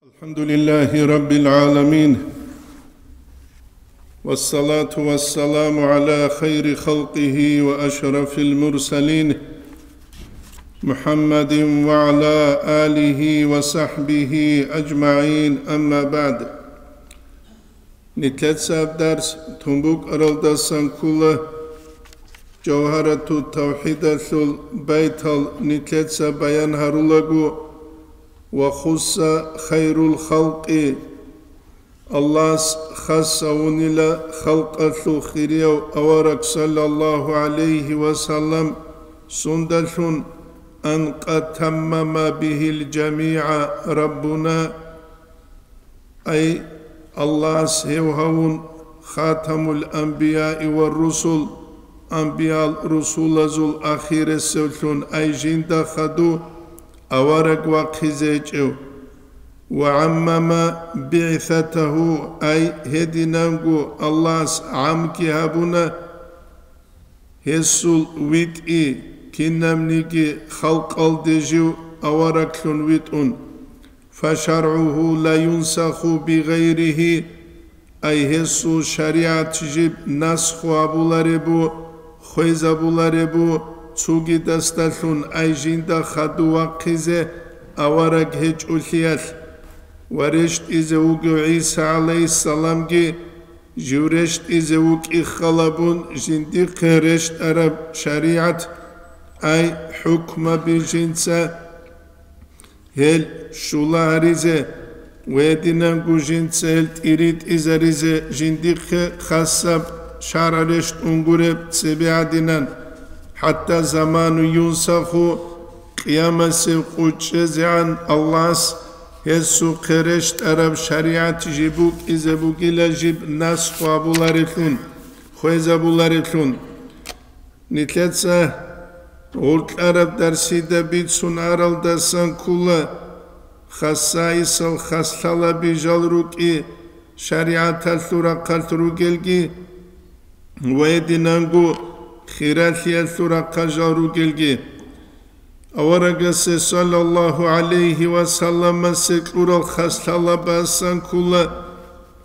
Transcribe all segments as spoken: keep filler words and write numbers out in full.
الحمد لله رب العالمين، والصلاة والسلام على خير خلقه وأشرف المرسلين، محمد وعلى آله وصحبه أجمعين، أما بعد. Нилъеца дарс тун букӀаралдасан ккола, Жавгьарату тавхӀидалъул байтал нилъеца баян гьарулаго, ва хусса хайрул халкъи, Аллагьас хас гьавунила халкъалъул хирияв авараг саллаллагьу гӀалайгьи ва саллам сундалъун, ан къад таммама бигьил жамигӀа Раббуна, ай, Аллагьас гьев гьавун хатамул анбияи ва русул, анбиял русулазул ахиресевлъун, ай, жинда хадув авараг вахъизе гьечӀев, ва гӀаммама бигӀсатагьу, ай, гьединанго Аллагьас гӀамги гьабуна, гьесул витӀи, кинабниги халкъалде жив авараглъун витӀун, фашаргӀугьу ла юнсаху бигъайригьи, ай, гьесул шаригӀат жиб насху гьабуларебу, хвезабуларебу цугидасдалъун, ай, жинда хадув вахъизе авараг гьечӀолъиялъ. Ва рещтӀизе вугев ГӀиса гӀалайгьиссаламги жив рещтӀизе вукӀи халабун жиндихъе рещтӀараб шаригӀат, ай, хӀукмаби жинца гьел щула гьаризе ва гьединанго жинца гьел тӀиритӀизаризе жиндихъе хасаб шаргӀ рещтӀун гуреб цебе гӀадинан, хӀатта заману юнсаху, къиямасеб къо чӀезегӀан Аллагьас гьесухъе рещтӀараб шаригӀат жиб букӀизе бугила жиб насху гьабуларевлъун, хвезабуларевлъун. Нилъеца гьуркьараб дарсида бицун аралдасан ккола, хасайисал хаслъалаби жал рукӀи шаригӀаталъул рахъалъ ругелги ва гьединанго хиралъиялъул рахъалъ жал ругелги. Аварагасе саллаллагьу гӀалайгьи ва салламасе кьурал хаслъалабасан ккола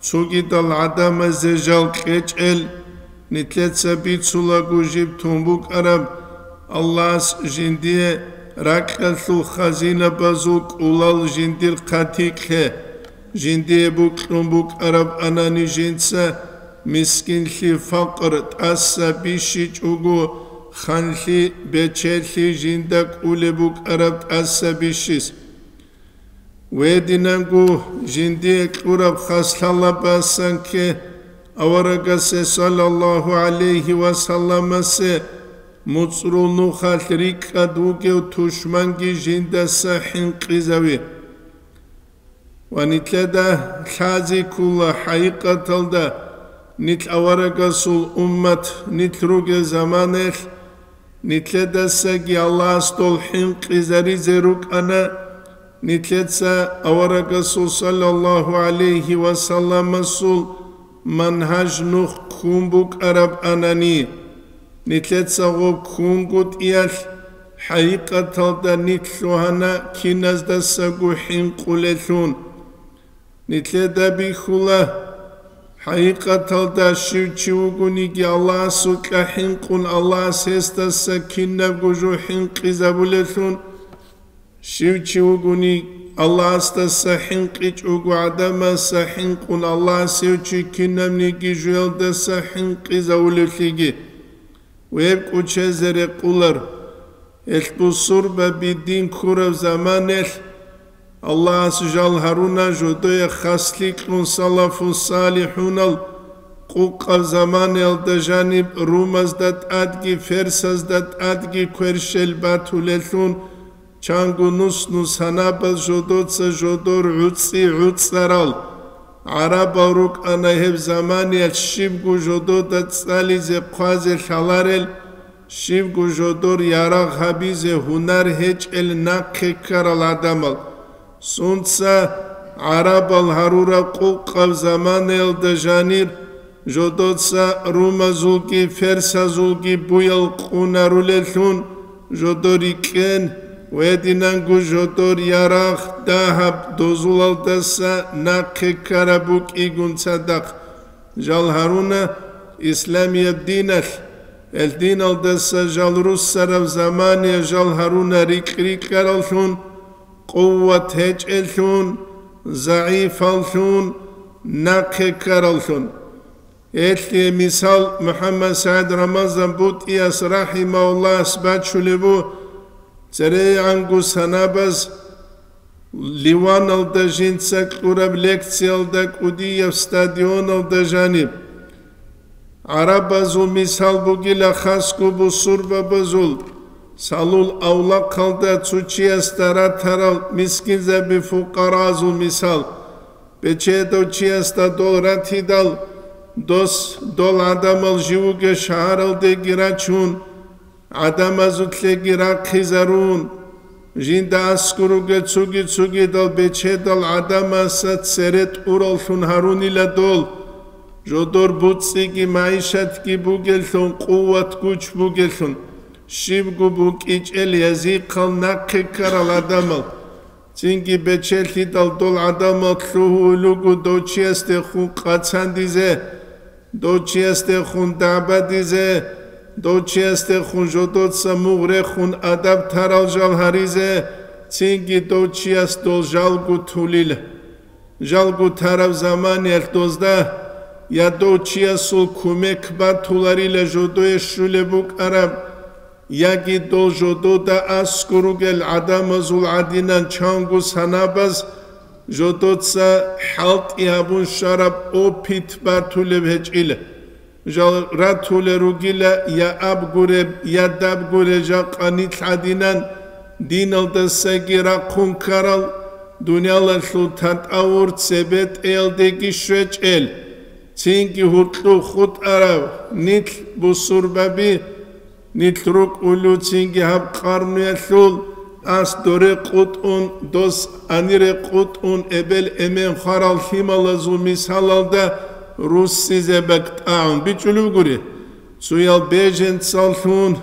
цогидал гӀадамазе жал кьечӀел, нилъеца бицулаго жиб тун букӀараб, Аллагьас жиндие ракьалъул хазинабазул кӀулал жиндир хъатикье, жиндие букьун букӀараб анани жинца мискинлъи, факър тӀаса бищичӀого, ханлъи, бечелъи жинда кӀулеб букӀараб тӀаса бищис. Гьединанго жиндие кьураб хаслъалабасан кке аварагасе саллаллагьу гӀалайгьи ва салламасе муцӀрул нухалъ рикӀкӀад вугев тушманги жиндаса хӀинкъизави. Ва нилъеда лъази ккола хӀакъикъаталда нилъ аварагасул уммат нилъ ругел заманаялъ, нилъедасаги Аллагьас дол хӀинкъизаризе рукӀана, нилъеца аварагасул саллаллагьу гӀалайгьи ва салламасул мангьаж нух ккун букӀараб анани. Нилъеца гъоб ккунгутӀиялъ, хӀакъикъаталда нилъ лъугьана киназдасаго хӀинкъулелъун. Нилъеда бихьула, хӀакъикъаталда щив чи вугониги Аллагьасукьа хӀинкъун, Аллагьас гьесдаса кинабго жо хӀинкъизабулелъун. Щив чи вугони, Аллагьасдаса хӀинкъичӀого гӀадамаса хӀинкъун, Аллагьас гьев чи кинабниги жуялдаса хӀинкъизавулевлъиги. Гьеб кӀочезе рекъолар, гьелъ бусурбаби дин ккураб заманаялъ, Аллагьас жал гьаруна жодое хаслъи кьун салафу салихӀунал къукъаб заманаялда жаниб румазда тӀадги ферсазда тӀадги кверщел батулелъун, чанго нус-нус гьанабал жодоца жодор гӀуцӀи гӀуцӀарал гӀарабал рукӀана гьеб заманиялъ щибго жодода цӀализе хъвазе лъаларел, щибго жодор ярагъ гьабизе гьунар гьечӀел нахъе ккарал гӀадамал. Сунца гӀарабал гьарураб къукъаб заманаялда жанир жодоца румазулги ферсазулги буял къунарулелъун, жодор рикӀкӀен, Гьединанго жодор ярагъ, дагьаб дозулалдаса нахъе ккараб букӀигун цадахъ жал гьаруна исламияб диналъ. Гьел диналдаса жал руссараб замане жал гьаруна рикь-рикьараллъун, къуват гьечӀеллъун, загӀифаллъун, нахъе ккараллъун. Гьелъие мисал МухӀаммад СагӀид Рамазан БутӀияс рахӀимагьуллагьас бачулеб бу, церегӀанго санабаз Ливаналда жинца кьураб лекциялда кӀудияб стадионалда жаниб. ГӀарабазул мисал бугила, хасго бусурбабазул, салул авлахъалда цо чиясда ратарал мискинзаби-фукъаразул мисал. Бечедав чиясда дол ратидал, дос дол гӀадамал живго шагьаралдеги рачун, гӀадамазулъеги рахъизарун, жинда аскӀор ругел цуги-цугидал бечедал гӀадамазда цере тӀураллъун гьарунила дол. Жодор буцӀцӀиги магӀишатги бугеллъун, къуват-гуч бугеллъун, щибго букӀичӀел язихъал нахъе ккарал гӀадамал. Цинги бечелъидал дол гӀадамал лъугьулел руго дов чиясдехун къацандизе, дов чиясдехун дагӀбадизе, дов чиясдехун жодоца мугъ рехун адаб тарал жал гьаризе, цинги дов чияс дол жалго тулила. Жалго тараб заманиялъ дозда я дов чиясул кумек батуларила жодое щулеб букӀараб, яги дол жодода аскӀор ругел гӀадамазул гӀадинан чанго санабаз жодоца хӀалтӀи гьабун щвараб опыт батулеб гьечӀила. Жал ратулел ругила я аб гуреб, я даб гуреб жакъа нилъ гӀадинан диналдасаги рахъун ккарал, дуниялалъул татӀавур цебетӀеялдеги щвечӀел, цинги гьуркьуб хутӀарав нилъ бусурбаби, нилъ рукӀулев цинги гьаб къарнуялъул ас доре къутӀун, дос анире къутӀун, эбел-эмен хварал лъималазул мисалалда руссизе бакӀ тӀагӀун бичӀчӀулеб гури. Цоял беженцаллъун,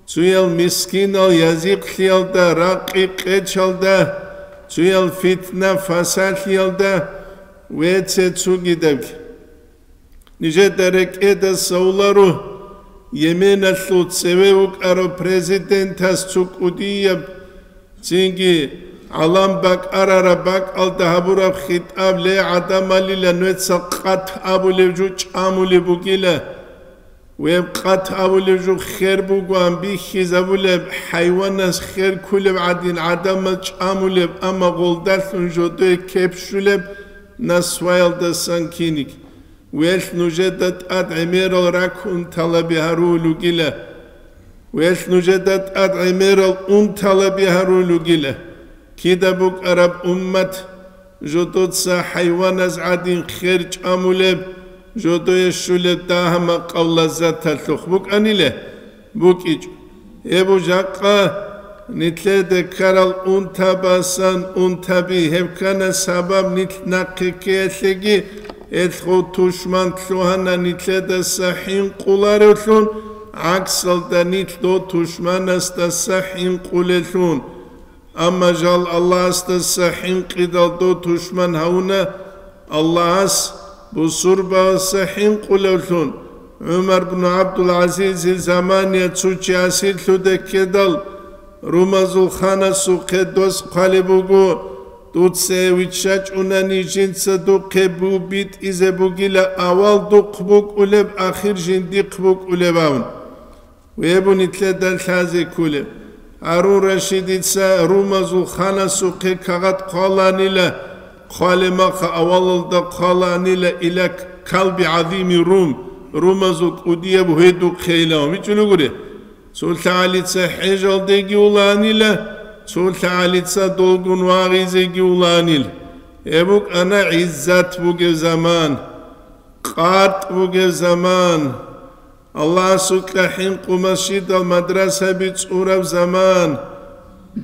цоял мискинал язихълъиялда, ракъи-къечалда, цоял фитна-фасалъиялда ва цо-цогидабги. Нижеда рекӀеда савларо, Йеменалъул цеве вукӀарав президентас цо кӀудияб, цинги гӀалам бакӀарараб бакӀалда гьабураб хитӀаб: «Ле, гӀадамалила, нуеца къат абулев жо чӀамулеб бугила. Гьеб къат абулев жо хер бугоан бихьизабулеб, хӀайванас хер кколеб гӀадин гӀадамал чӀамулеб, амма гъолдалъун жодое кеп щулеб насваялдасан киниг. Гьелъ нужеда тӀад гӀемерал ракӀ унталаби гьарулел ругила. Гьелъ нужеда тӀад гӀемерал унталаби гьарулел ругила. Кида букӀараб уммат, жодоца хӀайваназ гӀадин хер чӀамулеб, жодое щулеб дагьа-макъав лаззаталъухъ букӀанила, букӀичӀо. Гьеб жакъа нилъеда ккарал унтабасан унтаби, гьеб ккана сабаб нилъ нахъе ккеялъеги, гьелъго тушман лъугьана нилъедаса хӀинкъуларевлъун, гӀаксалда нилъ дов тушманасдаса хӀинкъулеллъун. Амма жал Аллагьасдаса хӀинкъидал дов тушман гьавуна, Аллагьас бусурбаса хӀинкъулевлъун. ГӀумар бну ГӀабдул-ГӀазизил замания цо чи асирлъуде ккедал, румазул ханасухъе дос хъвалеб буго: «Дуца гьев виччачӀунани, жинца духъе бу битӀизе бугила, авал духъ букӀулеб, ахир жиндихъ букӀулеб», – абун. Гьеб нилъеда лъазе кколеб. Гьарун Рашидица румазул ханасухъе кагъат хъваланила, хъвалеб маха авалалда хъваланила: «Иля калби гӀазими Рум», румазул кӀудияб гьедухъейилан вичӀулев гури. Цо лъагӀалица хӀежалдеги уланила, цо лъагӀалица долгун вагъизеги уланила. Гьеб букӀана гӀиззат бугеб заман, къартӀ бугеб заман. Аллагьасукьа хӀинкъу масжидал мадрасаби цӀураб заман,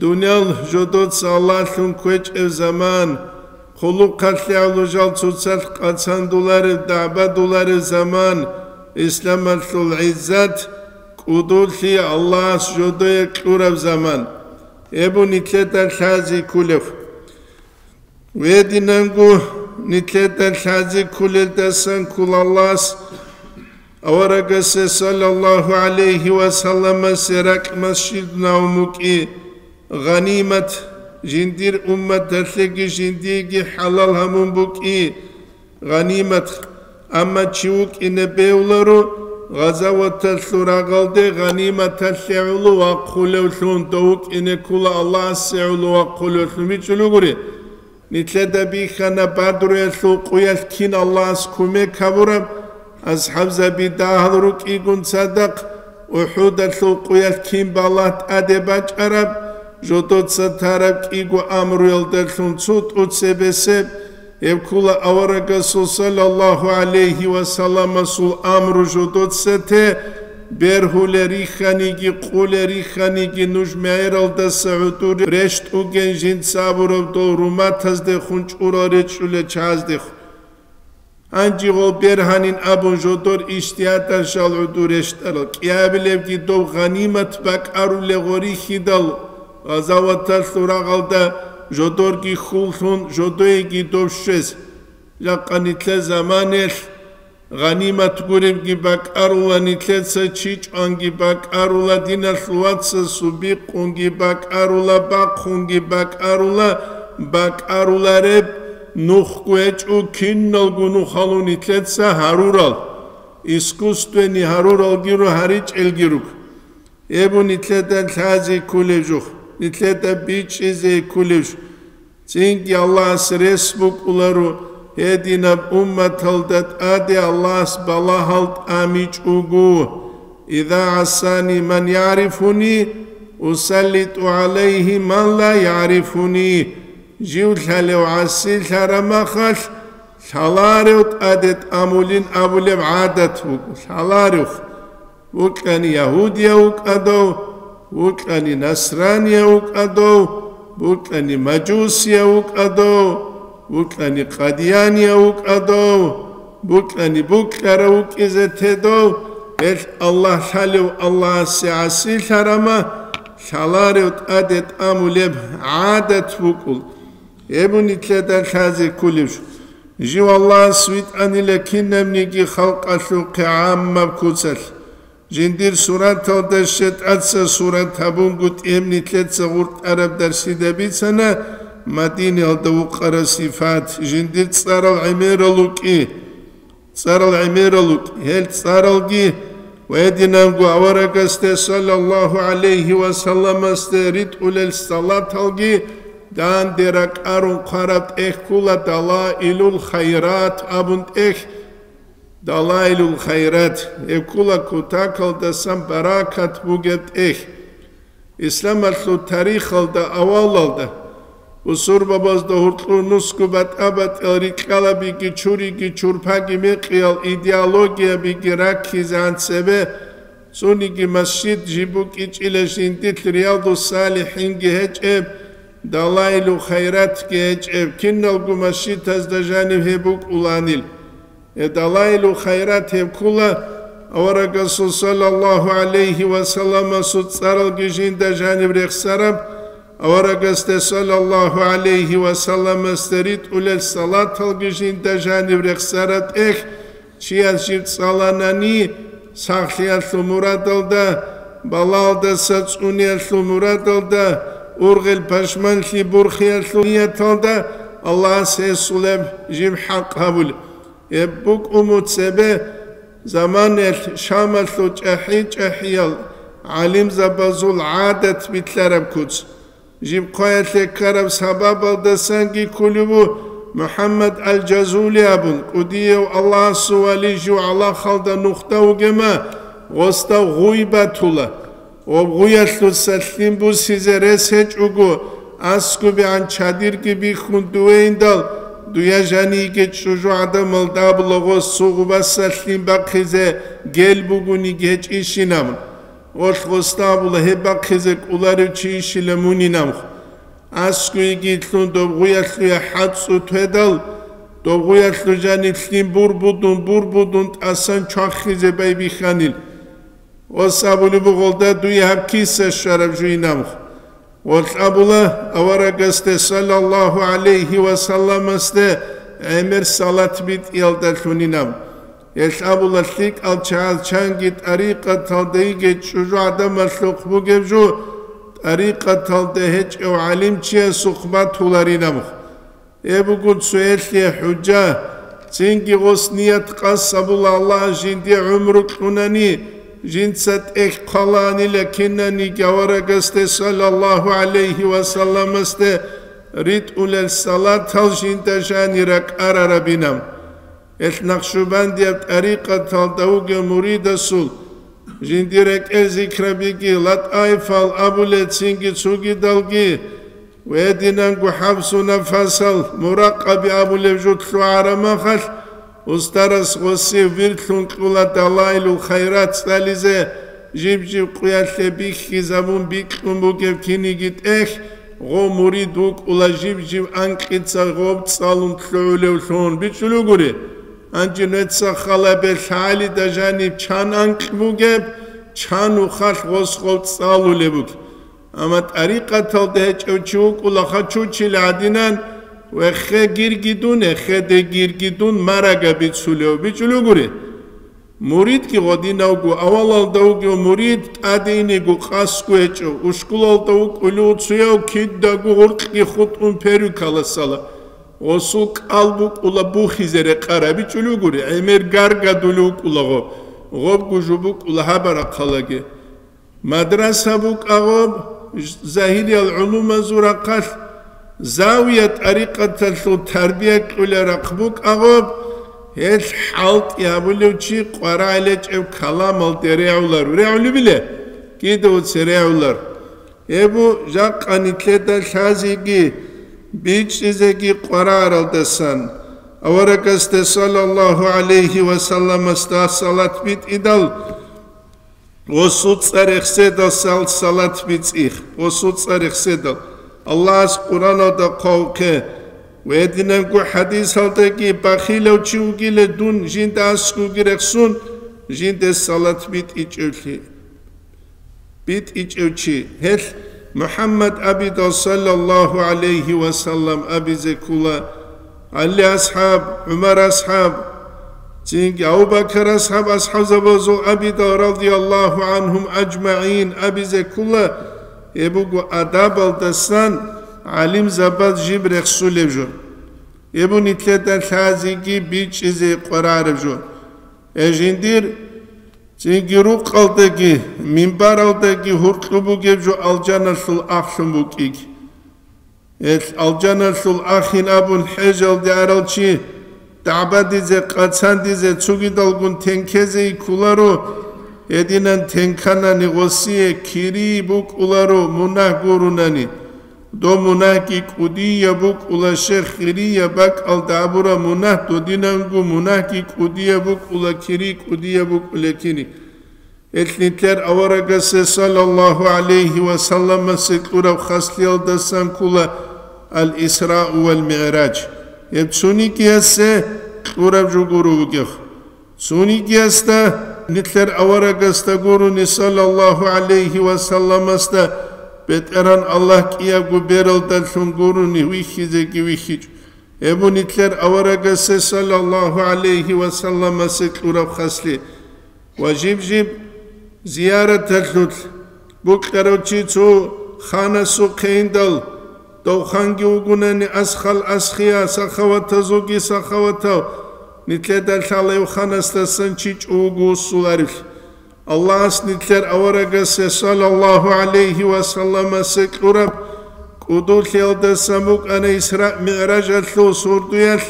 дуниял жодоца Аллагьлъун кквечӀеб заман, хъулухъалъе гӀоло жал цоцалъ къацандулареб, дагӀбадулареб заман, исламалъул гӀиззат, кӀудулъи Аллагьас жодое кьураб заман. Эбу нилъеда лъази ккулев. Гьединанго нилъеда лъази ккулелдасан ккола Аллагьас аварагасе саллаллагьу гӀалайгьи ва салламасе ракӀ масжидунав мукӀи, гъанимат, жиндир умматалъеги жиндиеги хӀалал гьамун букӀи, гъанимат, амма чи вукӀине бевларо, гъазаваталъул рагъалде гъаниматалъе гӀоло вахъулевлъун, дов вукӀине ккола Аллагьасе гӀоло вахъулевлъун, бичӀчӀулугури. Нилъеда бихьана Бадруялъул къуялъ кин Аллагьас кумек гьабураб, асхӀабзаби дагьал рукӀигун цадахъ, УхӀудалъул къуялъ кин балагь тӀаде бачӀараб, жодоца тараб кӀиго амруялдалъун цо тӀуцебесеб, гьеб ккула аварагасул саллаллагьу гӀалайгьи ва салламасул амру жодоца те, бергьулел рихьаниги, къулел рихьаниги нуж мегӀералдаса гӀодор рещтӀуген жинца абураб дол руматаздехун чӀурал речӀчӀулел чагӀаздехун. Гьанже гъол бергьанин абун жодор иштияталъал гӀодор рещтӀарал, кӀиабилебги доб гъанимат бакӀарулел гъорихьидал, гъазаваталъул рагъалда жодорги хьуллъун, жодоеги доб щвез. Жакъа нилъер заманаялъ гъанимат гуребги бакӀарула, нилъеца чи чӀванги бакӀарула, диналъул вацасул бикъунги бакӀарула, бахъунги бакӀарула, бакӀарулареб нухго гьечӀо, киналго нухалун нилъеца гьарурал, искусственный гьаруралги ру-, гьаричӀелги руго. Эбу нилъеда лъази ккулев жух, нилъеда бичӀчӀизе ккулев жух. Цинги Аллагьас рес букӀуларо, гьединаб умматалда тӀаде Аллагьас балагьал тӀамичӀого: «Иза гӀасани ман ягӀрифуни, усаллитӀу гӀалайгьи ман ла ягӀрифуни». Жив лъалев гӀасилъараб махалъ, лъаларев тӀаде тӀамулин абулеб гӀадат буго, лъаларев. Вукьани ягьудияв вукӀадав, вукьани насранияв вукӀадав, вукьани мажусияв вукӀадав, вукьани къадиянияв вукӀадав, вукьани букьарав вукӀизе тедав, гьелъ Аллагь лъалев Аллагьасе гӀасилъарама, лъаларев тӀаде тӀамулеб гӀадат букӀул. Гьеб нилъеда лъазе кколеб жо. Жив Аллагьас витӀанила кинабниги халкъалъухъе гӀаммаб куцалъ. Жиндир сураталда щетӀаца сурат гьабунгутӀи гьеб нилъеца гъуртӀараб дарсида бицана Мадинаялда вукъараб сипат, жиндир цӀарал гӀемерал вукӀи. ЦӀарал гӀемерал вукӀи. Гьел цӀаралги ва гьединанго аварагасде саллаллагьу гӀалайгьи ва салламасде ритӀулел салаталги данде ракӀарун хъвараб тӀехь ккола Далаилул Хайрат абун тӀехь. Далаилул Хайрат, гьеб ккола кутакалдасан баракат бугеб тӀехь. Исламалъул тарихалда авалалда бусурбабазда гьоркьор нусго батӀа-батӀиял рикьалабиги, чуриги, чурпаги, мекъиял идеологиябиги раккизегӀан цебе, цониги масжид жиб букӀичӀила жиндилъ Риядус-Салихинги гьечӀеб, Далаилу Хайратги гьечӀеб, киналго масжидазда жанив гьеб букӀуланил. Э, Далаилу Хайрат гьеб ккола аварагасул саллаллагьу гӀалайгьи ва салламасул цӀаралги жинда жаниб рехсараб, аварагасде саллаллагьу гӀалайгьи ва салламасде ритӀулел салаталги жинда жаниб рехсараб тӀехь, чияс жиб цӀаланани, сахлъиялъул мурадалда, балалдаса цӀуниялъул мурадалда, ургъел пашманлъи бурхиялъул нияталда, Аллагьас гьесулеб жиб хӀакъ гьабулеб. Гьеб букӀуну цебе заманаялъ Шамалъул чӀахӀи-чӀахӀиял гӀалимзабазул гӀадат билълъараб куц. Жиб хъваялъе ккараб сабабалдасанги кколев ву МухӀаммад ал-Жазули абун, кӀудияв Аллагьасул вали жив гӀалахалда нухда вугема, гъосда гъуй батула. Гъоб гъуялъуса лъим бусизе рес гьечӀого, аскӀубегӀан чадирги бихьун дуейндал, дуя жаниги чӀужугӀадамал дабулагъос цо гъубаса лъим бахъизе гел бугониги гьечӀищинаб. Гъолъ гъосда абула гьеб бахъизе кӀоларев чи ищила мунинаб. АскӀуйги лъун доб гъуялъуе хӀацӀцӀу тведал, доб гъуялъу жаниб лъим бурбудун-бурбудун тӀасан чвахизе байбихьанил. Ос абулеб бугъалда дуе гьаб киса щвараб жуйнамх. Гъолъ абула аварагасде саллаллагьу гӀалайгьи ва салламасде гӀемер салат битӀиялдалъунинаб. Гьелъ абула лъикӀал чагӀаз чанги тӀарикъаталда йигей чӀужугӀадамалъухъ бугеб жо, тӀарикъаталда гьечӀев гӀалимчиясухъ батуларинаб. Гьеб буго цоялъе хӀужа, цинги гъос ният къасд абула Аллагь жиндие гӀумру кьунани, жинца тӀехь хъвалаанила кинаниги аварагасде саллаллагьу гӀалайгьи ва салламасде ритӀулел салатал жинда жани ракӀарарабинаб. Гьелъ Накъшубандияб тӀарикъаталда вугев муридасул жиндир рекӀел зикрабиги, латӀаифал абулел цинги цогидалги, ва гьединанго хӀабсу нафасал муракъаби абулеб жо лъугӀараб махалъ, устарас гъосие вирлъун кьула далаилул хайрат цӀализе, жиб-жиб къуялъе бихьизабун бикьун бугеб киниги тӀехь, гъо мурид вукӀула жиб-жиб анкьица гъоб цӀалун лъугӀулевлъун бичӀчӀулев гури. Гьанже нуеца халабе лъагӀалида жаниб чан анкь бугеб, чан ухалъ гъос гъоб цӀалулеб бугеб. Амма тӀарикъаталда гьечӀев чи вукӀула хачучил гӀадинан, вехе гирги дун, эхеде гирги дун марага бицулев бичӀулев гури. Муридги гъодинавго, авалалда вугев мурид тӀаде инего къасго гьечӀо, ушкулалда вукӀулев цояв кидаго гъуркьги хутӀун перукаласала, гъосул кӀал букӀула бухизе рекъарабичӀулев гури, гӀемер гаргадулев вукӀула гъо, гъобго жо букӀула гьабарахъалаги. Мадраса букӀа гъоб, загьириял гӀулумазул рахъалъ, завия тӀарикъаталъул тарбия кьула рахъ букӀа гъоб, гьелъ хӀалтӀи гьабулев чи къварагӀел гьечӀеб каламалде регӀулар. РегӀулебиле? Кида уце регӀулар. Гьеб бу жакъа нилъеда лъазеги, бичӀчӀизеги къварагӀаралдасан, аварагасде саллаллагьу гӀалайгьи ва салламасда салат битӀидал, гъосул цӀар рехседал сал-, салат бицӀих, гъосул цӀар рехседал. Аллагьас Къуръаналда хъвавухъе ва гьединанго хӀадисалдаги: бахилав чи вугиле дун жинда аскӀовги рехсун, жинде салат битӀичӀевлъи, битӀичӀев чи. Гьелъ МухӀаммад абидал саллаллагьу гӀалайгьи ва саллам абизе ккола, ГӀали асхӀаб, ГӀумар асхӀаб, цинги Абу Бакар асхӀаб, асхӀабзабазул абидал радияллагьу гӀанхум аджмагӀин абизе ккола, гьеб буго адабалдасан гӀалимзабаз жиб рехсулеб жо. Гьеб бу нилъеда лъазеги бичӀчӀизе къварареб жо. Э, жиндир цинги рукъалдаги, минбаралдаги гьуркьу бугеб жо алжаналъул ахлъун букӀиги. Гьелъ алжаналъул ахин абун хӀежалде арал чи дагӀбадизе, къацандизе, цогидалгун тенкезе йиккуларо, гьединан тенканани гъосие кири букӀуларо, мунагь гурунани. Дов мунагьги кӀудияб букӀула, щерх гъирияб бакӀалда абураб мунагь додинанго мунагьги кӀудияб букӀула, кири кӀудияб букӀула кири. Гьелъ нилъер аварагасе саллаллагьу гӀалайгьи ва салламасе кьураб хаслиялдасан ккола ал-Исрау вал МигӀраж. Гьеб цонигиясе кьураб жо гуро вугев. Цонигиясда нилъер аварагасда гурони саллаллагьу гӀалайгьи ва салламасда БетӀергьан Аллагь кӀиябго бералдалъун гурони вихьизеги вихьичӀо. Гьеб бу нилъер аварагасе саллаллагьу гӀалайгьи ва салламасе кьураб хасли. Ва жиб-жиб зияраталъулъ букьарав чи цо ханасухъе индал, дов ханги вугунани асхал асхияв, сахаватазулги сахаватав, нилъеда лъала гьев ханасдасан чи чӀо вуго вуссуларевлъи. Аллагьас нилъер аварагасе саллаллагьу гӀалайгьи ва салламасе кьураб кӀудулъиялдасан букӀана Исра МигӀражалъул сордоялъ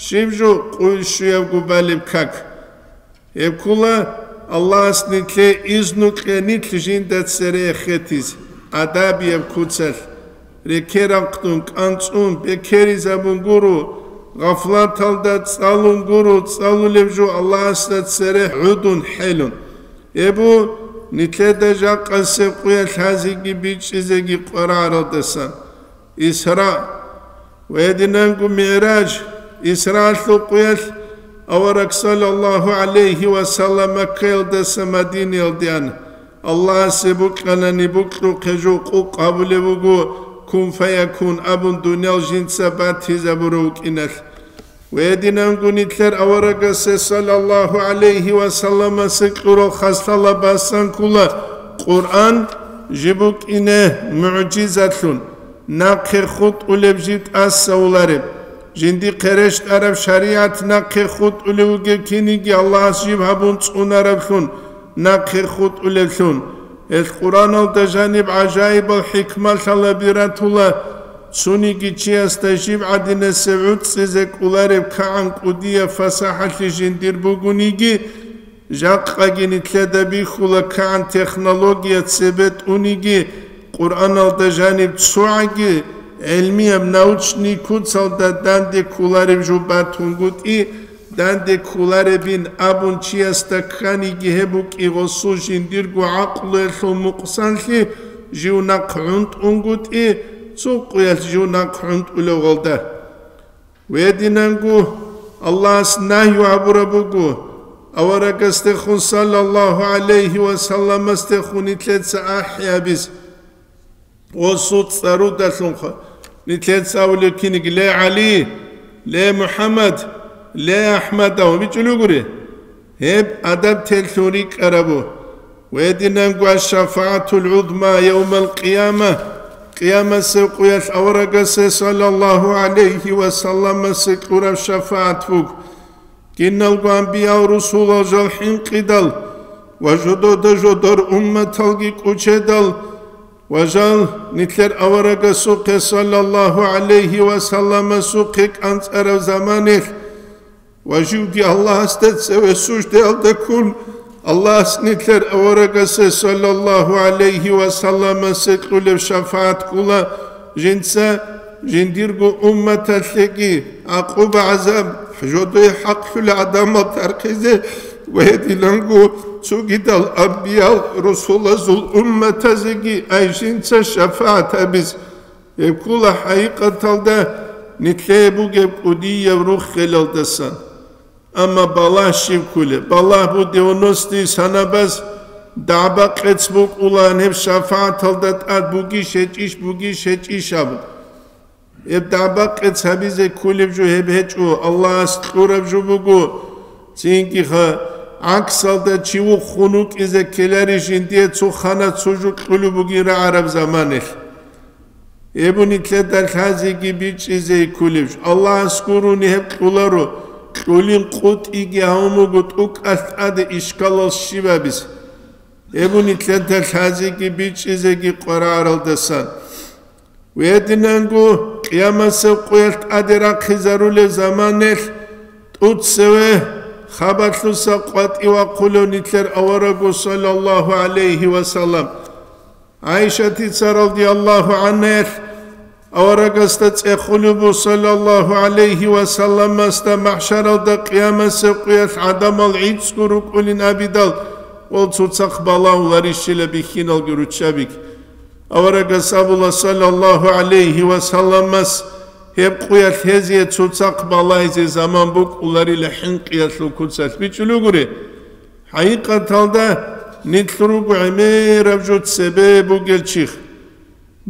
щиб жо къуйшуябго балеб как. Гьеб ккола Аллагьас нилъее изну кье нилъ жинда цере эхетизе, адабияб куцалъ, рекерахъдун, кӀанцӀун, бекеризабун гуро, гъафлаталда цӀалун гуро, цӀалулеб жо Аллагьасда цере гӀудун, хӀелун. Гьеб бу нилъеда жакъасеб къуялъ гьазиги бичӀчӀизеги къварагӀаралдасан. Исра ва гьединанго МигӀраж, Исраалъул къуялъ авараг саллаллагьу гӀалайгьи ва саллам Маккаялдаса Мадинаялде ана. Аллагьасе букьанани букьухъе жо къукъ гьабулеб буго, кун фаякун абун дуниял жинца батизабурав вукӀиналъ. Ва гьединанго нилъер аварагасе саллаллагьу гӀалайгьи ва салламасе кьурал хаслъала басан ккола Къуръан жиб букӀине мугӀжизатлъун, нахъе хутӀулеб жиб тӀасавулареб, жиндихъе рещтӀараб шаригӀат нахъе хутӀулев вугев киниги Аллагьас жиб гьабун цӀунараблъун, нахъе хутӀулевлъун. Гьелъ Къуръаналда жаниб гӀажаибал хӀикмалъала биратула, цониги чиясда жиб гӀадинасеб гӀуцӀизе кӀолареб кагӀан кӀудияб фасахӀалъи жиндир бугониги, жакъаги нилъеда бихьула кагӀан технология цебе тӀуниги, Къуръаналда жаниб цогӀаги гӀилмияб научный куцалда данде кколареб жо батунгутӀи, данде кколаребин абун чиясда кканиги гьеб букӀи гъосул жиндирго гӀакълуялъул мукъсанлъи жив нахъ гӀунтӀунгутӀи, цо къуялъ жив нахъ гӀунтӀулев гъолда. Гьединанго Аллагьас нагью гьабураб буго, аварагасдехун саллаллагьу гӀалайгьи ва салламасдехун нилъеца ахӀи гьабиз. Гъосул цӀарудалъунха нилъеца абулеб киниги: «Ле ГӀали, ле МухӀаммад, ле АхӀмад», – абун бичӀчӀулев гури. Гьеб адаб телъун рикӀкӀарабу. Гьединанго аш-шафагӀатул гӀузма явмал къияма, къиямасеб къуялъ аварагасе саллаллагьу гӀалайгьи ва салламасе кьураб шафагӀат буго. Киналго анбиял-русулал жал хӀинкъидал ва жодода жодор умматалги кӀучедал ва жал нилъер аварагасухъе саллаллагьу гӀалайгьи ва салламасухъе кӀанцӀараб заманалъ ва живги Аллагьасда цеве суждаялда ккун, Аллагьас нилъер аварагасе саллаллагьу гӀалайгьи ва салламасе кьулеб шафагӀат ккола, жинца жиндирго умматалъеги гӀакъуба-гӀазаб, жодое хӀакълъулел гӀадамал тархъизе ва гьединанго цогидал анбиял-русулазул умматазеги ай жинца шафагӀат гьабиз. Гьеб ккола хӀакъикъаталда нилъее бугеб кӀудияб руххелалдасан. Амма балагь щиб кколеб? Балагь бу девяностые санабаз дагӀба-къец букӀулаан гьеб шафагӀаталда тӀад бугищ гьечӀищ, бугищ гьечӀищ абун. Гьеб дагӀба-къец гьабизе кколеб жо гьеб гьечӀо, Аллагьас кьураб жо буго. Цинги-ха, гӀаксалда чи вухун вукӀизе ккеларищ жиндие цо хана цо жо кьулеб бугин рагӀараб заманалъ. Гьеб нилъеда лъазеги бичӀчӀизе кколеб жо. Аллагьас гурони гьеб кьоларо, кьолин къотӀиги гьавун буго тӀокӀалъ тӀаде ишкалал щиб гьабизе. Гьеб нилъеда лъазеги бичӀчӀизеги къварагӀаралдасан. Гьединанго къиямасеб къуялъ тӀаде рахъизарулеб заманалъ тӀоцеве хабалъуса къватӀивахъулев нилъер аварагу саллаллагьу гӀалайгьи ва саллам. ГӀайшатица радияллагьу гӀанхаялъ аварагасда цӀехолеб бу, саллаллагьу гӀалайгьи ва салламасда, махӀшаралда къиямасеб къуялъ гӀадамал гӀицӀго рукӀунин абидал, вал цоцахъ балагьуларищила бихьиналги руччабиги. Аварагас абула, саллаллагьу гӀалайгьи ва салламас, гьеб къуялъ гьезие цоцахъ балагьизе заман букӀуларила хӀинкъиялъул куцалъ бичӀчӀулев гури. ХӀакъикъаталда, нилъ руго гӀемераб жо цебе бугел чи.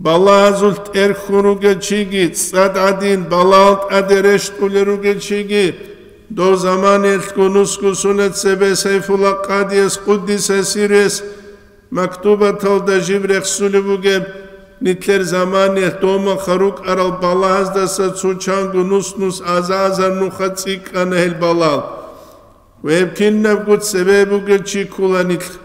Балагьазулъ тӀерхьун ругел чиги, цӀад гӀадин балагьал тӀаде рещтӀулел ругел чиги, дов заманаялъго нусго сунат цебе Сайфулла къадияс, къуддиса сирругьу, мактубаталда жиб рехсулеб бугеб, нилъер заманаялъ домаха рукӀарал балагьаздаса цо чанго нус-нус аза-азар нуха цӀикӀкӀана гьел балагьал. Ва гьеб кинабго цебе бугел чи ккола нилъ.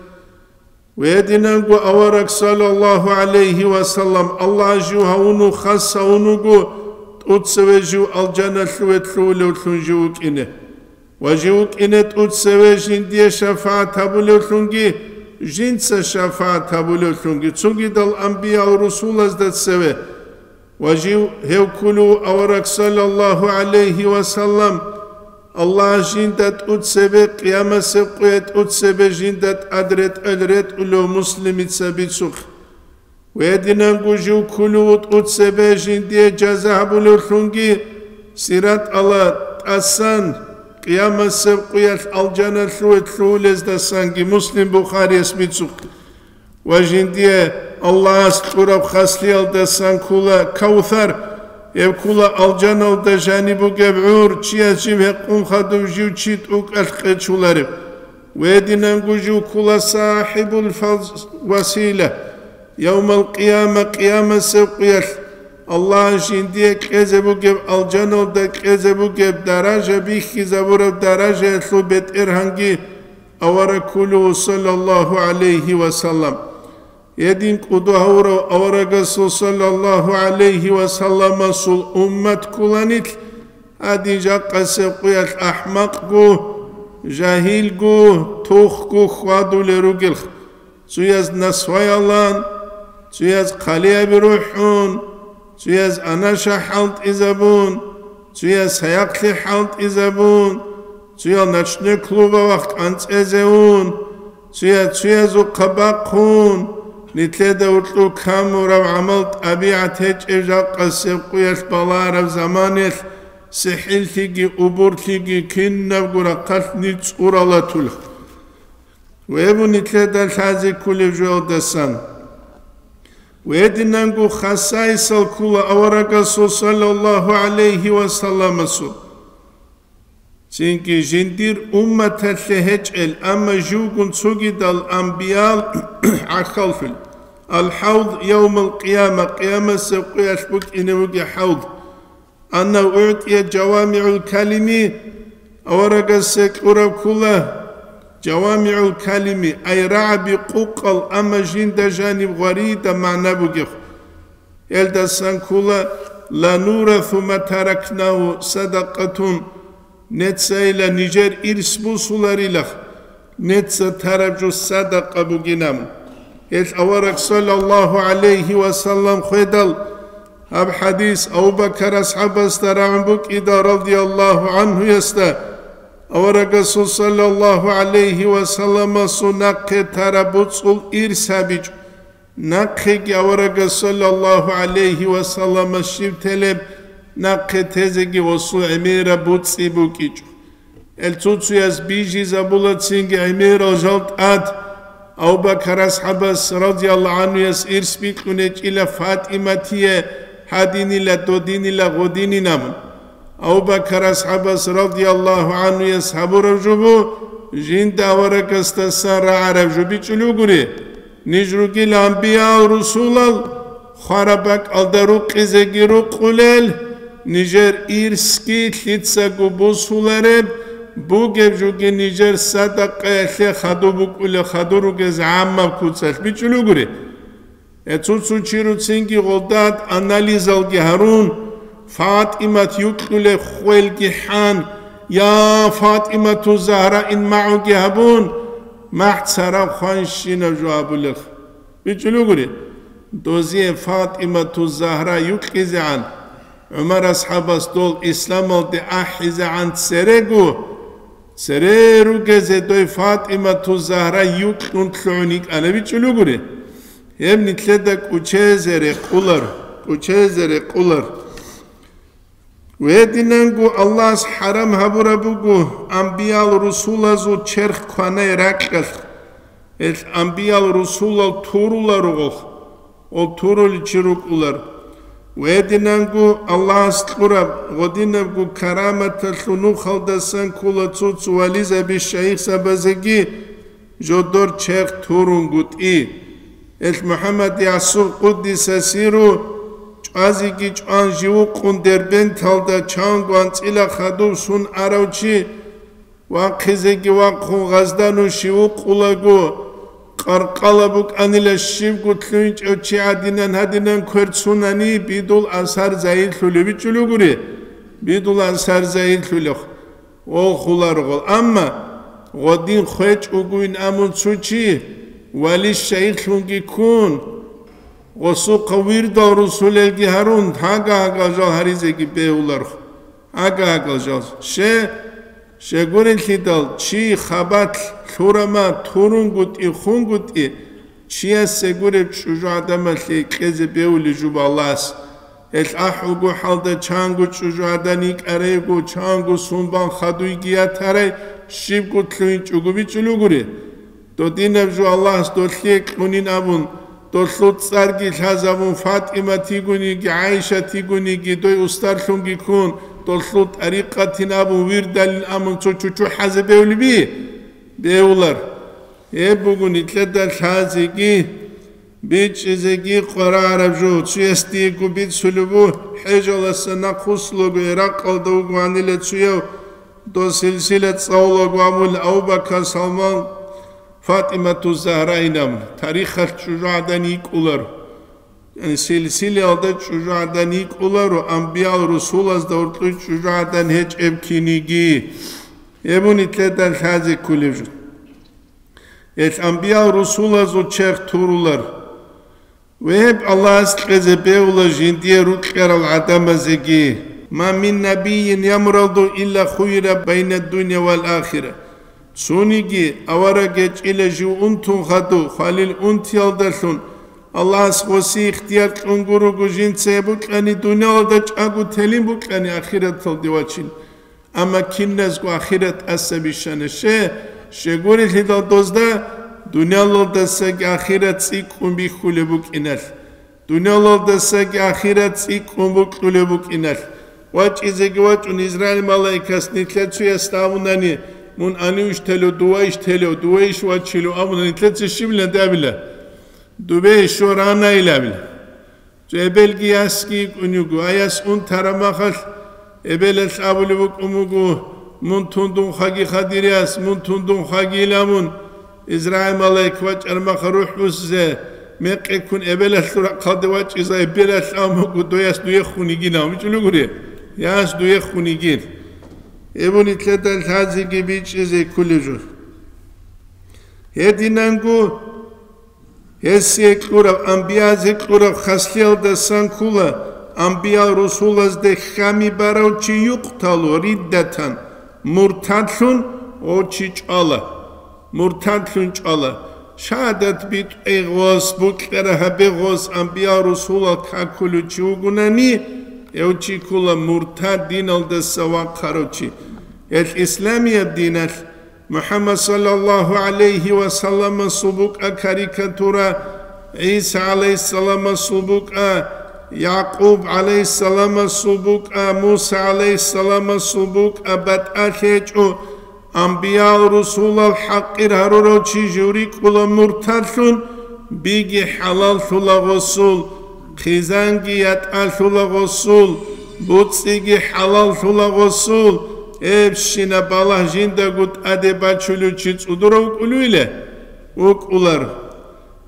Гьединанго авараг, саллаллагьу гӀалайгьи ва саллам, Аллагь жив гьавуну хас гьавун вуго, тӀоцеве жив алжаналъуве лъугьулевлъун жив вукӀине. Ва жив вукӀине тӀоцеве жиндие шафагӀат гьабулевлъунги, жинца шафагӀат гьабулевлъунги, цогидал анбиял-русулазда цеве. Ва жив гьев кколев авараг, саллаллагьу гӀалайгьи ва саллам, Аллагь жинда тӀоцебе, къиямасеб къуялъ тӀоцебе жинда тӀад ретӀел ретӀулев муслимица бицухъ. Гьединанго жив кколев тӀоцебе жиндие жаза гьабулевлъунги, сиратала тӀасан, къиямасеб къуялъ алжаналъуве лъугьулездасанги, Муслим, Бухарияс бицухъ. Ва жиндие Аллагьас кьураб хаслиялдасан ккола Кавсар, гьеб ккола алжаналда жаниб бугеб гӀур, чияс жиб гьекъун хадуб, жив чи тӀокӀалъ къечулареб. Гьединанго жив ккола сахӀибул фаз-, васила, явмал къияма, къиямасеб къуялъ Аллагь жиндие кьезе бугеб, алжаналда кьезе бугеб даража, бихьизабураб даражаялъул бетӀергьанги авараг кколев, саллаллагьу гӀалайгьи ва саллам. Гьедин кӀодо гьавурав аварагасул, саллаллагьу гӀалайгьи ва салламасул, уммат кколанилъ, гьадин жакъасеб къуялъ ахӀмакъго, жагьилго, тухго хьвадулел ругелха. Цояз насваялан, цояз хъалиаби рухӀун, цояз анаша хӀалтӀизабун, цояз саяхълъи хӀалтӀизабун, цоял ночной клубавахъ кӀанцӀезе ун, цояз цоязухъа бахъун, нилъеда гьоркьоб камураб гӀамал-тӀабигӀат гьечӀеб жакъасеб къуялъ балараб заманалъ сихӀиллъиги, убурлъиги кинабго рахъалъ нилъ цӀуралатулха. Гьеб нилъеда лъазе кколеб жоялдасан. Гьединанго хасайсал ккола аварагасул, саллаллагьу гӀалайгьи ва салламасул. Цинги жиндир умматалъе гьечӀел, амма живгун цогидал амбиял гӀахьаллъул. Ал-хӀавд явмал къияма, къиямасеб къуялъ букӀине бугеб хӀавд. Аннагьу угӀтӀия жавамигӀул калими, аварагасе кьураб ккола жавамигӀул калими, ай рагӀаби къукъал, амма жинда жаниб гъваридаб магӀна бугеб. Гьелдасан ккола: «Ла нурату ма таракнагьу садакъатун», нецайила нижер ирс бусуларилах, неца тараб жо садакъа бугинаб. Гьел авараг, саллаллагьу гӀалайгьи ва саллам, хведал, гьаб хӀадис Абу Бакар асхӀабасда рагӀун букӀидал, радияллагьу гӀанхуясда, аварагасул, саллаллагьу гӀалайгьи ва салламасул, нахъе тараб буцӀул ирс гьабичӀо. Нахъеги аварагас, саллаллагьу гӀалайгьи ва саллама, щиб телеб, нахъе тезеги гъосул гӀемераб буцӀи букӀичӀо. Гьел цо-цояс бижизабула цинги гӀемерал жал тӀад. Абу Бакар асхӀабас, радияллагьу гӀанхуяс, ирс бикьун гьечӀила ФатӀиматие гьадинила, додинила, гъодинин абун. Абу Бакар асхӀабас, радияллагьу гӀанхуяс, гьабураб жо бу, жинда аварагасдасан рагӀараб жо бичӀчӀулев гури. Ниж ругила анбиял-русулал хвараб бакӀалда рукъизеги рукъулел, нижер ирсги лъицаго бусулареб, бугеб жоги нижер садакъаялъе хадуб букӀулеб, хадур ругез гӀаммаб куцалъ бичӀчӀулев гури. Гье, цо-цо чи руцинги гъолдад анализалги гьарун, ФатӀимат юкьулеб хвелги хӀан, «Я ФатӀимату Загьра» ин магӀуги гьабун, махӀ цараб хванщинаб жо абулелха. БичӀчӀулев гури, дозие ФатӀимату Загьра юкьизегӀан, ГӀумар асхӀабас дол исламалде ахӀизегӀан церего, цере ругезе дой ФатӀимату Загьра юкьун лъугӀун йикӀана, бичӀчӀулев гури. Гьеб нилъеда кӀучезе рекъулар, кӀучезе рекъулар. Гьединанго Аллагьас хӀарам гьабураб буго анбиял-русулазул черх кванай ракьалъ. Гьел анбиял-русулал туруларугъох, ол туруличи рукӀулар. Гьединанго Аллагьас кьураб гъодинабго караматалъул нухалдасан ккола цо-цо вализаби, шайихзабазеги жодор черх турунгутӀи. Гьел МухӀаммад ЯсухӀ, къуддиса сирругьу, чӀвазеги чӀван живухъун Дербенталда чанго анцӀила хадув сун арав чи, вахъизеги вахъун гъазда нуш живукъулаго, къаркъала букӀанила щибго лъугьинчӀев чи гӀадинан гьадинан квер цунани, бидул асар загьирлъулев, бичӀчӀулев гури, бидул асар загьирлъулев. Гъол хуларгъул. Амма гъодин хвечӀогойин абун цо чи, вали шайихлъунги ккун, гъосухъа вирдал русулелги гьарун, гьага-гьагал жал гьаризеги бегьуларх. Гьага-гьагал жал. Ще, щегурелъидал чи хабалъ лъурама, турунгутӀи, хунгутӀи, чиясе гуреб чӀужугӀадамалъе кьезе бегьулеб жо балас. Гьел ахӀулго хӀалда чанго чӀужугӀадан йикӀарайго, чанго сунбан хадуйги ятарай, щибго лъугьинчӀого бичӀчӀулев гури. Додинаб жо Аллагьас долъие кьунин абун, долъул цӀарги лъазабун, ФатӀимат йигониги, ГӀайшат йигониги, дой устарлъунги ккун, долъул тӀарикъатин абун, вирдалин абун цо чучухӀазе бевлиби? Бевлар. Гьеб буго нилъеда лъазеги, бичӀчӀизеги къварагӀараб жо. Цуяс диего бицулеб буго, хӀежаласа нахъвуссулаго Иракъалда вугоанила цуяв, дос силсила цӀалулаго абула Абу-Бакар, Салман, ФатӀимату Загьраинаб тарихалъ чӀужугӀадан йикӀуларо. Яни силсилаялда чӀужугӀадан йикӀуларо, амбиял-русулазда гьоркьой чӀужугӀадан гьечӀеб киниги. Гьеб буго нилъеда лъазе кколеб жо. Гьел амбиял-русулазул черх турулар. Ва гьеб Аллагьас кьезе бегьула жиндие рукьарал гӀадамазеги: «Ма мин набийин ямуралду илла хуйра байна дунья вал ахира». Цониги авараг гьечӀила жив унтун хадув, хвалил унтиялдалъун, Аллагьас гъоси ихтияр кьун гурого жинца гьеб букьани дуниялалда чӀаго телин букьани ахираталде вачин. Амма киназго ахират тӀаса бищана. Ще, щегурелъидал дозда дуниялалдасаги ахират цӀикӀкӀун бихьулеб букӀиналъ, дуниялалдасаги ахират цӀикӀкӀун букьулеб букӀиналъ. ВачӀизеги вачӀун Израил малаикас нилъер цуясда абунани: «Мун анивищ телев, дувайищ телев, дувайищ вачилев?» абуна, нилъеца щибилан абила? Дубе ишо ранайилабила. Цо эбелги ясги йикӀун йиго. Аяс унтараб махалъ, эбелалъ абулеб букӀун буго: «Мун тундун хаги, хадирияс, мун тундун хаги», — иламун. Израил малаик вачӀараб махалъ рухӀ бусизе, мекъи ккун эбелалъул рахъалде вачӀизе, эбелалъ абун буго: «Дояс дуехун йигин», — абун бичӀулев гури. «Яс дуехун йигин». Гьеб буго нилъеда лъазеги бичӀчӀизе кколеб жо. Гьединанго Гьесие кьураб, амбиязе кьураб хаслъиялдасан ккола, амбиял-русулазде хьами барав чи юкъталу риддатан, муртадлъун гъов чи чӀвала. Муртадлъун чӀвала. Шагьадат битӀе гъос, букьара гьабе гъос, амбиял-русулал какулев чи вугунани, гьев чи ккола муртад, диналдаса вахъарав чи. Гьелъ исламияб диналъ МухӀаммад саллаллагьу гӀалайгьи ва салламасул букӀа карикатура, ГӀиса гӀалайгьиссаламасул букӀа, Якъуб гӀалайгьиссаламасул букӀа, Муса гӀалайгьиссаламасул букӀа батӀалъи гьечӀо, амбиял-русулал хӀакъир гьарурав чи жив рикӀкӀула муртадлъун, биги хӀалаллъула гъосул, хъизанги ятӀалъула гъосул, буцӀцӀиги хӀалаллъула гъосул, гьебщинаб балагь жиндаго тӀаде бачулев чи цӀудурав вукӀулевиле? ВукӀулар.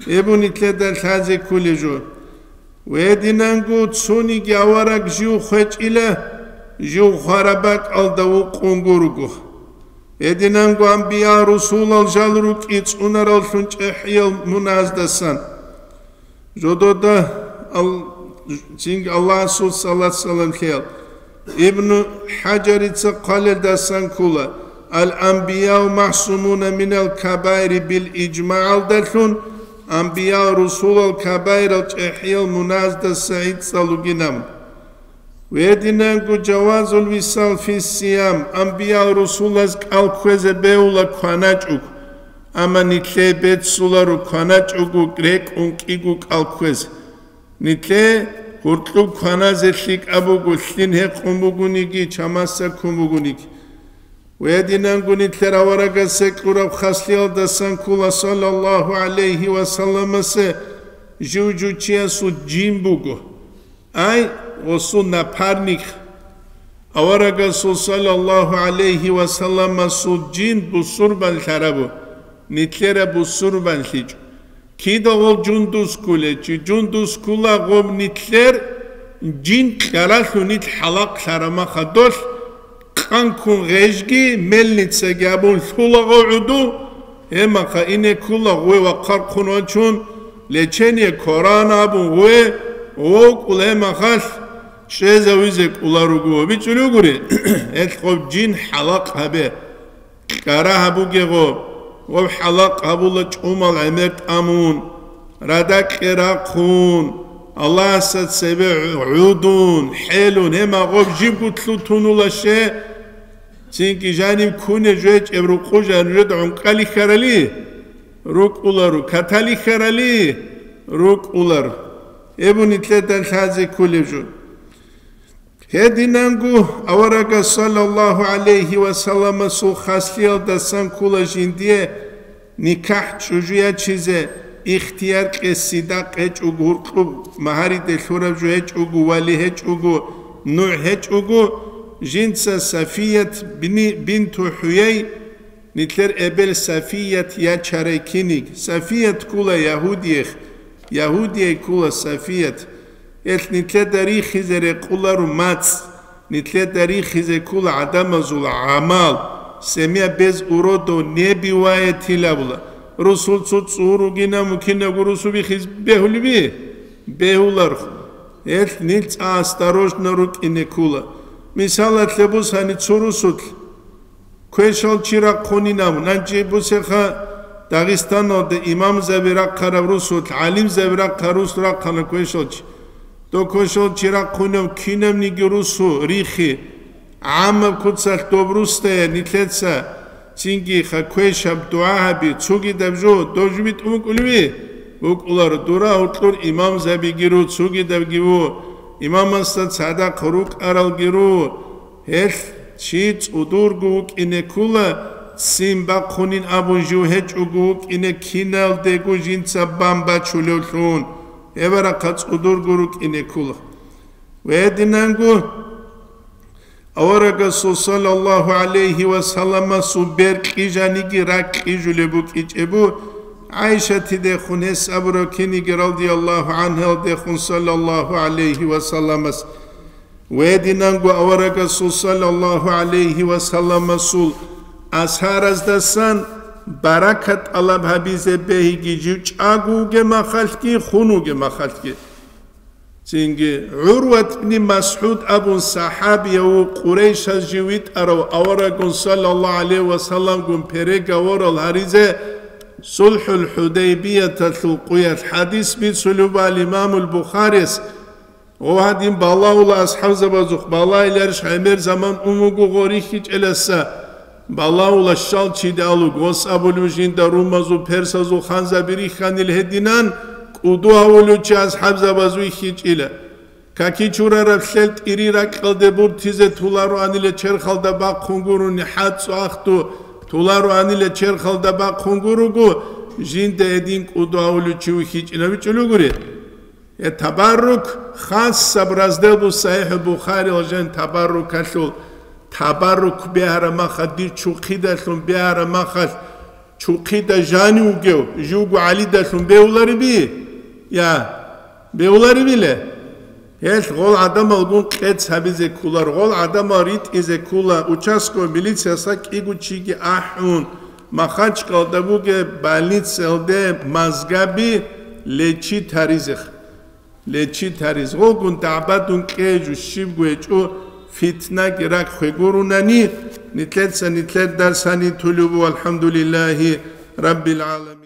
Гьеб буго нилъеда лъазе кколеб жо. Гьединанго цониги авараг жив хвечӀила, жив хвараб бакӀалда вукъун гурого. Гьединанго амбиял-русулал жал рукӀи цӀунараллъун чӀехӀиял муназдасан. Жодода ал-, цинги Аллагьасул салат-салам лъеял. Ибну ХӀажарица хъвалелдасан ккола: «Ал-анбияу махсумуна минал кабаири бил ижмагӀалдалъун, амбиял-русулал кабаирал чӀехӀиял муназдаса гӀицӀал ругинаб». Гьединанго жавазул висал фиссиям, амбиял-русулаз кӀал кквезе бегьула кваначӀого, амма нилъее беццуларо кваначӀого рекӀун кӀиго кӀал кквезе. Нилъее гьуркьуб кваназе лъикӀаб буго, лъим гьекъун бугониги, чамасда ккун бугониги. Гьединанго нилъер аварагасе кьураб хаслъиялдасан ккола, саллаллагьу гӀалайгьи ва салламасе, жив-жив чиясул жин буго. Ай, гъосул напарник. Аварагасул саллаллагьу гӀалайгьи ва салламасул жин бусурбан лъарабу, нилъера бусурбанлъичӀо. Кида гъов жундус ккулев чи, жундус ккула гъов нилъер жин кьаралъун нилъ хӀалакълъараб маха долъ, къанккун гъежги, мельницаги абун лъула гъов гӀуду, гьемаха ине ккула гъуве вахъархъун вачун, лечение кварана абун гъуве, гъов кӀула гьемахалъ чӀезавизе кӀула руго, бичӀчӀулев гури, гьелъ гъов жин хӀалакъ гьабе. Кьара гьабуге гъоб, гъоб хӀалакъ гьабула чӀумал гӀемер тӀамун, радакье рахъун, Аллагьасда цебе гӀудун, хӀелун, гьема гъоб жибго лъутунула ще, цинги жанив куне жвечӀеб рукъу жан жеда гӀункъали хьарали, РукӀуларо, каталихьарали рукӀулар. Гьеб нилъеда лъазе кколеб жо. Гьединанго аварагас саллаллагьу гӀалайгьи ва салламасул хаслъиялдасан ккола жиндие никахӀ чӀужу ячизе ихтияр, къесси дакъ гьечӀого, гьуркьуб магьариде лъураб жо гьечӀого, вали гьечӀого, нугӀ гьечӀого, жинца Сафият бини-, бинту ХӀуяй, нилъер эбел Сафият ячарай киниг. Сафият ккола ягьудиех, ягьудияй ккола Сафият. Гьелъ нилъеда рихизе рекъоларо мацӀ, нилъеда рихизе ккола гӀадамазул гӀамал, семья без уродов не бывает гьабула. Русул цо цӀур ругинав мун кинабго русу бихизе бегьулеби? Бегьуларху. Гьелъ нилъ цӀа осторожно рукӀине ккола. Мисалалъе бусани цо русулъ квешал чи рахъунин абун, нанчи бусеха Дагъистаналда имамзаби рахъараб русулъ, гӀалимзаби рахъа-, рус рахъана квешал чи. Дов квешал чи рахъунев кинавниги русу рихи, гӀаммаб куцалъ доб русдая нилъеца цинги ха квешаб дугӀа гьаби, цугидаб жо, дов жо битӀун букӀулеби? БукӀулар, дура гьоркьор имамзабиги ру, цугидабги ву, имамасда цадахъ рукӀаралги ру. Гьелъ чи цӀудурго вукӀине ккола, ццин бахъунин абун жив гьечӀого вукӀине киналдего жинца бан бачулевлъун, гьеб рахъа цӀудурго рукӀине ккола. Ва гьединанго аварагасул саллаллагьу гӀалайгьи ва салламасул бер кьижаниги ракӀ кьижулеб букӀичӀебу, ГӀайшатидехун гьес абураб киниги радияллагьу гӀангьалдехун саллаллагьу гӀалайгьи ва салламас. Гьединанго аварагасул саллаллагьу гӀалайгьи ва салламасул асхӀараздасан баракат тӀалаб гьабизе бегьиги жив чӀаго вугеб махалъги, хун вугеб махалъги. Цинги ГӀурват ибни МасгӀуд абун сахӀабияв ву, Къурайшаз жив витӀарав, аварагун саллаллагьу гӀалайгьи ва салламгун переговорал гьаризе СулхӀул ХӀудайбияталъул къуялъ хӀадис бицулеб буго имамул Бухарияс. Гъо гьадин балагьула асхӀабзабазухъ, балагьиларищ гӀемер заман ун вуго гъо рихьичӀеласа? Балагьула щал чиде алуг, гъос абулев жинда румазул, персазул ханзаби рихьанил гьединан, кӀуду гьавулев чи асхӀабзабаз вихьичӀила. Каки чурараб лъел тӀири ракьалде буртизе толароанила черхалда бахъун гурони, хӀацӀцӀу ахту толароанила черхалда бахъун гуруго, жинда гьедин кӀуду гьавулев чи вихьичӀила вичӀулев гури. Э, табаррук, хасаб раздел бу СахӀихӀул Бухариял жан табаррукалъул, табаррук бегьараб махалъ, дир чурхъидалъун бегьараб махалъ, чурхъида жани вугев, живго гӀалидалъун бегьулариби? Я, бегьуларибила? Гьелъ гъол гӀадамалгун къец гьабизе кколар, гъол гӀадамал ритӀизе ккола, участковый милициясда кӀиго чиги ахӀун, Махачкалда бугеб больницаялде мазгаби лечить гьаризех. Лечить гьариз. Гъогун дагӀбадун кье жо щибго гьечӀо, фитнаги ракӀ хвегурунани, нилъеца нилъер дарс гьаниб тулеб буго, валхӀамдулиллагьи раббил гӀаламин.